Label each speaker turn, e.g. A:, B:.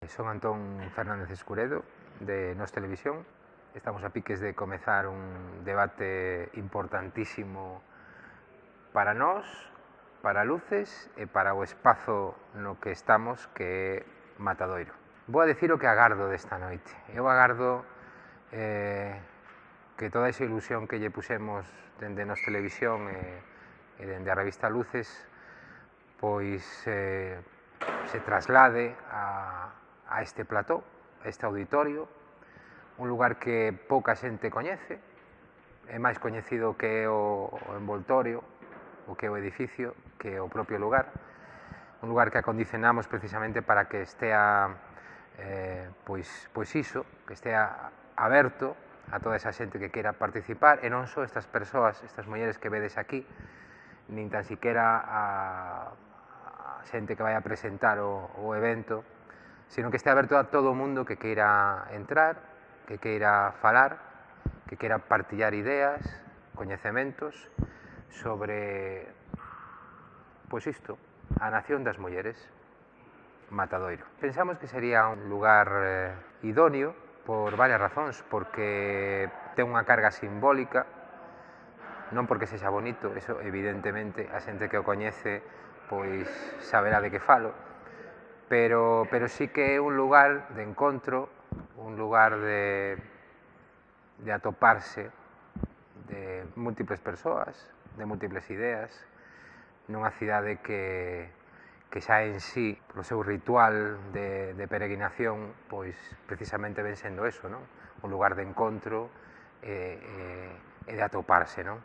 A: Son Antón Fernández Escuredo, de Nós Televisión. Estamos a piques de comezar un debate importantísimo para nós, para Luces e para o espazo no que estamos, que é Matadoiro. Vou a decir o que agardo desta noite. Eu agardo que toda esa ilusión que lle pusemos dende Nós Televisión e dende a revista Luces pois se traslade a este plató, a este auditorio, un lugar que pouca xente coñece, é máis coñecido que é o envoltorio, o que é o edificio, que é o propio lugar, un lugar que acondicionamos precisamente para que estea pois iso, que estea aberto a toda esa xente que queira participar, e non só estas persoas, estas mulleres que vedes aquí, nin tan siquiera a xente que vai a presentar o evento, sino que este aberto a todo o mundo que queira entrar, que queira falar, que queira partillar ideas, coñecementos sobre, pois isto, a nación das mulleres, Matadoiro. Pensamos que sería un lugar idóneo por varias razóns, porque ten unha carga simbólica, non porque sexa bonito, eso evidentemente a xente que o coñece pois saberá de que falo, pero sí que é un lugar de encontro, un lugar de atoparse de múltiples persoas, de múltiples ideas, nunha cidade que xa en sí, polo seu ritual de peregrinación, pois precisamente ven sendo eso, non? Un lugar de encontro e de atoparse, non?